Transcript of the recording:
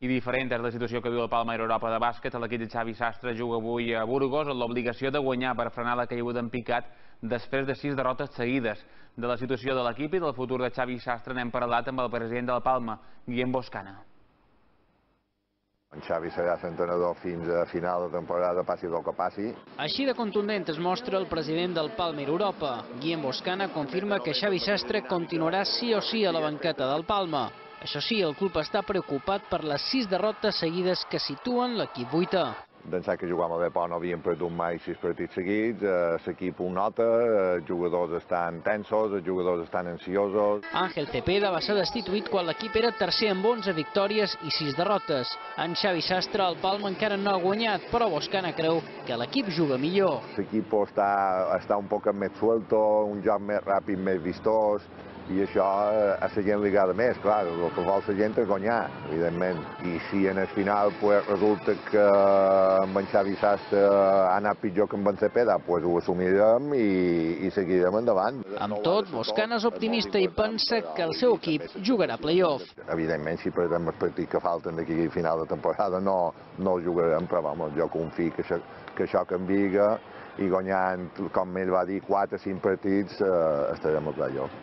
I diferent és la situació que viu el Palma Europa de bàsquet. L'equip de Xavi Sastre juga avui a Burgos amb l'obligació de guanyar per frenar la caiguda en picat després de 6 derrotes seguides. De la situació de l'equip i del futur de Xavi Sastre n'hem parlat amb el president del Palma, Guillem Boscana. En Xavi serà l'entrenador fins a final de temporada, passi el que passi. Així de contundent es mostra el president del Palma Europa. Guillem Boscana confirma que Xavi Sastre continuarà sí o sí a la banqueta del Palma. Això sí, el club està preocupat per les 6 derrotes seguides que situen l'equip vuitè. D'ençà que jugàvem a Depor no havíem perdut mai 6 partits seguits, l'equip ho nota, els jugadors estan tensos, els jugadors estan ansiosos. Ángel Cepeda va ser destituït quan l'equip era tercer amb 11 victòries i 6 derrotes. En Xavi Sastre, el Palma encara no ha guanyat, però Boscana creu que l'equip juga millor. L'equip està un poc més suelto, un joc més ràpid, més vistós, i això a la gent li agrada més, clar, el que vol la gent és guanyar, evidentment. I si en el final resulta que amb en Xavi Sastre ha anat pitjor que amb en Cepeda, ho assumirem i seguirem endavant. Amb tot, Boscana és optimista i pensa que el seu equip jugarà playoff. Evidentment, si perdem els partits que falten d'aquí a final de temporada no el jugarem, però jo confio que això canvia i guanyant, com ell va dir, 4 o 5 partits estarem al playoff.